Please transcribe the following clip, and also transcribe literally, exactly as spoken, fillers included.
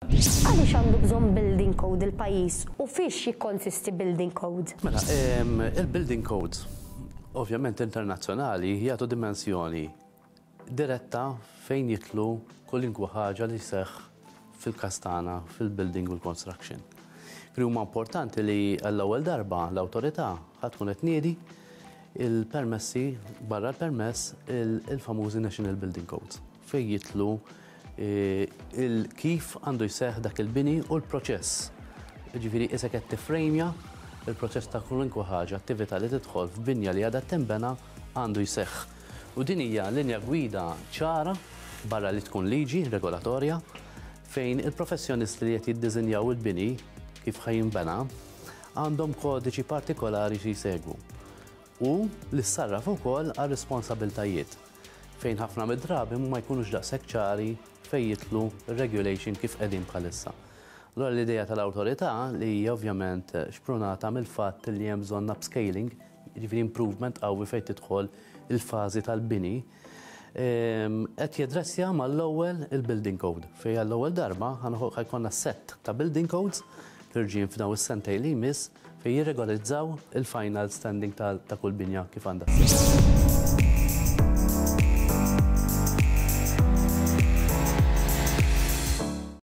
Għaliex għandu bżonn building code il-pajjiż u fiex jikkonsisti building code? Mela, il-building codes, ovvjament internazzjonali, jagħtu dimensjoni diretta fejn jidħlu kwalunkwe ħaġa li seħ fil-kastana, fil-building u l-construction. Huma importanti li għall-ewwel darba l-awtorità ħa tkun qed tniedi il-permessi, barra l-permess, il-famużi National Building Codes fejn jidħlu il-kif għandu jseħ dak il-bini u l-proċess. Ġifieri issa qed tifrejmja il-proċess ta' kwalunkwe ħaġa, attività li tidħol f'binja li għadha tinbena għandu jseħħ. U din hija linja gwida ċara barra li tkun liġi regolatorja fejn il-professjonisti li qed jiddiżinjaw il-bini kif ħa jinbena għandhom kodiċi partikolari xi jsegwu. U li ssarraf ukoll għal responsabiltajiet fejn ħafna mid-drabi ma jkunux daqshekk ċari fejn jidħlu regulation kif qegħdin bħalissa. Allora l-idea tal-awtorità, li hija ovvjament xprunata mill-fatt li hemm bżonn upscaling, jiġifieri improvement qawwi fejn tidħol il-fażi tal-bini, qed jadressja mal-ewwel il-building code. Fejn għall-ewwel darba ħa jkollna set ta' building codes ħerġin f'dawn is-sentejn li jmiss fejn jirregolizzaw il-final standing ta' kull binja kif għandha.